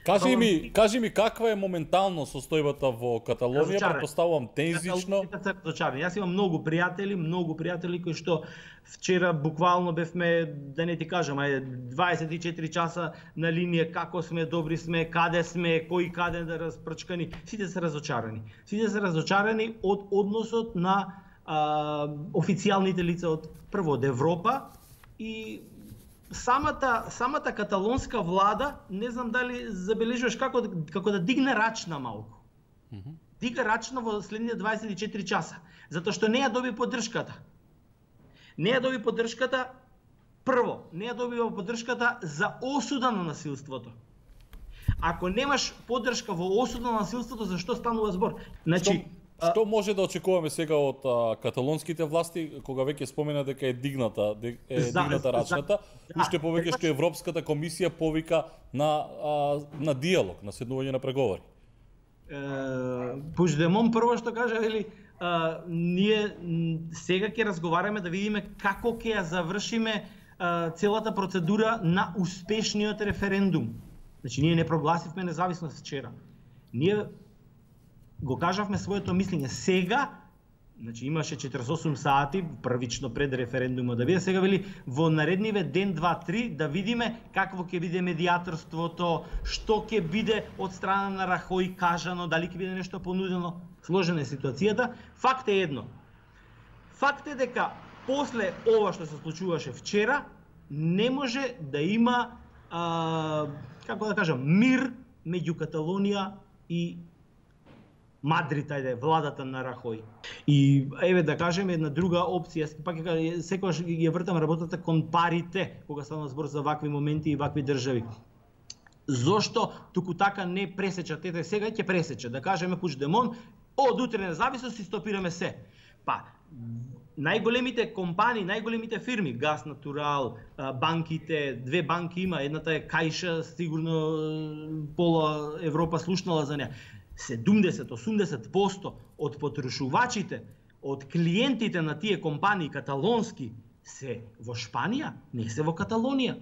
Кажи ми каква е моментално состојбата во Каталонија, претпоставувам тензично. Јас имам многу пријатели кои што вчера буквално бевме, да не ти кажам, 24 часа на линија, како сме, добри сме, каде сме, кои каде да распрчкани. Сите се разочарани. Сите се разочарани од односот на официјалните лица од Европа и самата каталонска влада, не знам дали забележуваш како да дигне рачна малку. Дига рачна во следните 24 часа, затоа што не ја доби поддршката. Прво, не ја добива поддршката за осуда на насилството. Ако немаш поддршка во осуда на насилството, зашто станува збор? Значи, што може да очекуваме сега од каталонските власти, кога веќе спомена дека е дигната рачната, уште повеќе што Европската комисија повика на диалог, на седнување на преговори? Пучдемон прво што кажа, вели, ние сега ќе разговараме да видиме како ќе ја завршиме целата процедура на успешниот референдум. Значи, ние не прогласивме независност вчера. Ние го кажавме своето мислење. Сега, значи имаше 48 сати првично пред референдумот да биде, сега вели во наредниве ден, 2, 3 да видиме какво ќе биде медиаторството, што ќе биде од страна на Рахој кажано, дали ќе биде нешто понудено. Сложена е ситуацијата. Факт е едно. Факт е дека после ова што се случуваше вчера, не може да има како да кажам, мир меѓу Каталонија и Мадрид, владата на Рахој. И еве да кажем една друга опција, пак секогаш ја вртам работата кон парите, кога станува збор за вакви моменти и вакви држави. Зошто туку така не пресечат? Ете сега ќе пресече, да кажеме Пучдемон, од утре независност и стопираме се. Па најголемите компании, најголемите фирми, Газ Натурал, банките, две банки има, едната е Кајша, сигурно пола Европа слушнала за неа. 70-80% од потрошувачите, од клиентите на тие компании каталонски се во Шпанија, не се во Каталонија.